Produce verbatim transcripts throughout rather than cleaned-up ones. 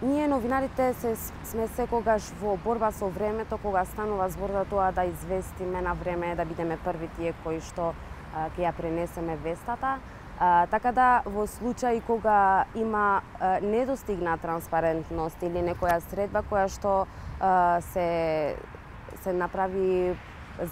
Ние новинарите се сме секогаш во борба со времето, кога станува збор за тоа да известиме на време, да бидеме први тие кои што а, ќе ја пренесеме вестата. А, така да во случај кога има а, недостигна транспарентност или некоја средба која што а, се се направи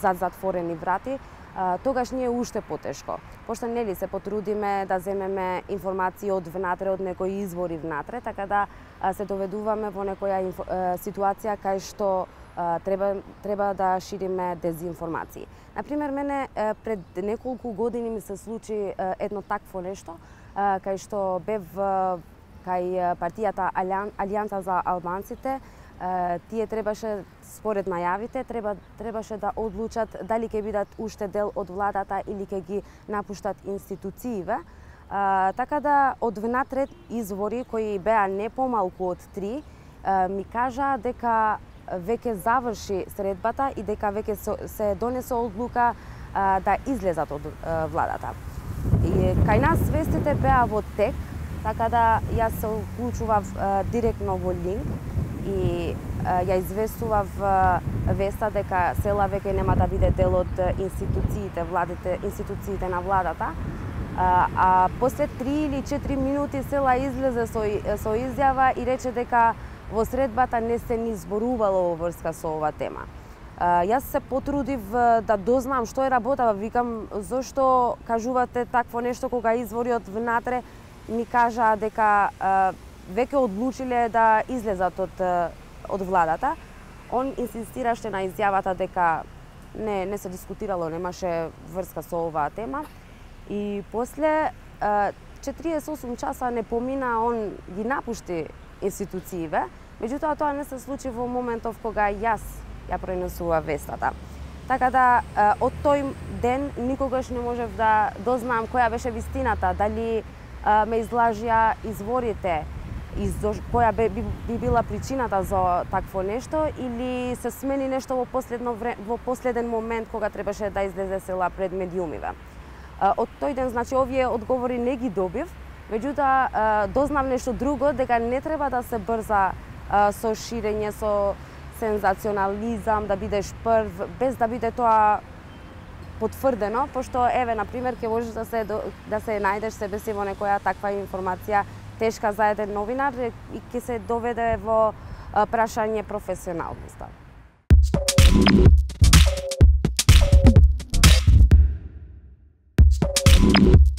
зад затворени врати, а, тогаш ние уште потешко. Пошто нели се потрудиме да земеме информации од внатре, од некои извори внатре, така да а, се доведуваме во некоја инфо, а, ситуација кај што а, треба треба да шириме дезинформации. Например, мене а, пред неколку години ми се случи а, едно такво нешто, а, кај што бев а, кај партијата Алијанса за албанците. Тие требаше, според најавите, треба, требаше да одлучат дали ќе бидат уште дел од владата или ќе ги напуштат институцииве. А, така да, од внатре извори, кои беа не помалку од три, а, ми кажа дека веќе заврши средбата и дека веќе се донесе одлука а, да излезат од а, владата. И кај нас вестите беа во тек, така да јас се уклучував а, директно во линк и а, ја известував а, веста дека Села веќе нема да биде дел од институциите, владите, институциите на владата. А, а после три или четири минути Села излезе со, со изјава и рече дека во средбата не се ни зборувало во врска со ова тема. А, јас се потрудив да дознам што е работава, викам зошто кажувате такво нешто кога извори од внатре ми кажа дека а, веќе одлучиле да излезат од, од владата. Он инсистираше на изјавата дека не, не се дискутирало, немаше врска со оваа тема. И после четириесет и осум часа не помина, он ги напушти институцииве, меѓутоа тоа не се случи во моментов кога јас ја пренесува вестата. Така да од тој ден никогаш не можев да дознам која беше вистината, дали ме излажија изворите, и која би, би, би била причината за такво нешто, или се смени нешто во последно време, во последен момент кога требаше да излезе Села пред медиумиве. Од тој ден, значи, овие одговори не ги добив, меѓутоа дознав нешто друго, дека не треба да се брза со ширење, со сензационализам, да бидеш прв, без да биде тоа потврдено, пошто, еве, например, ќе можеш да се, да се најдеш себе си во некоја таква информација тешка за еден новинар и ќе се доведе во прашање професионалноста. We'll be right back.